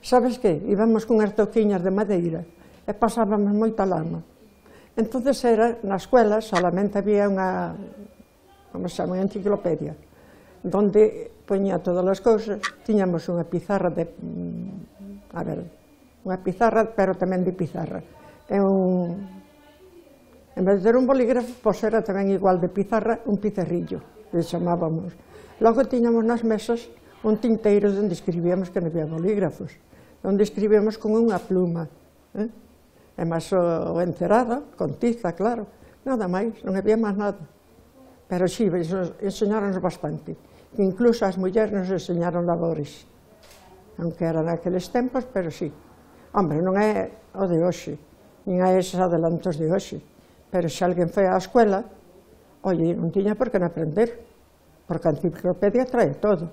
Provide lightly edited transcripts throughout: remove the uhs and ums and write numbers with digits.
Sabes que? Íbamos cunhas toquiñas de madeira e pasábamos moita lama. Entonces era, na escuela, solamente había unha, como se chama, unha enciclopedia, donde poñía todas as cousas, tiñamos unha pizarra de, a ver, unha pizarra, pero tamén de pizarra. En vez de ter un bolígrafo, pois era tamén igual de pizarra, un pizarrillo, que chamábamos. Logo tiñamos nas mesas un tinteiro onde escribíamos, que non había bolígrafos, onde escribíamos con unha pluma, e máis o encerado, con tiza, claro, nada máis, non había máis nada. Pero sí, enseñáronos bastante, incluso as mulleres nos enseñaron labores, aunque eran naqueles tempos, pero sí. Hombre, non é o de hoxe, nin é eses adelantos de hoxe, pero se alguén foi á escuela, oye, non tiña por que non aprender, porque a enciclopedia trae todo.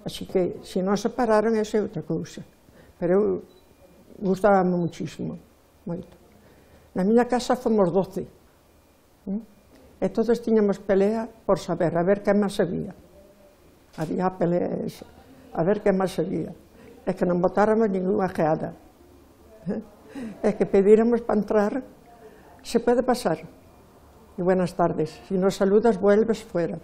Así que, se non se pararon, esa é outra cousa. Pero eu gustábame muchísimo, moito. Na miña casa fomos 12, e todos tiñamos pelea por saber, a ver quen máis sabía. Había a pelea esa, a ver quen máis sabía. E que non botáramos ninguna geada. E que pedíramos para entrar, se pode pasar. Y buenas tardes. Si no saludas, vuelves fuera.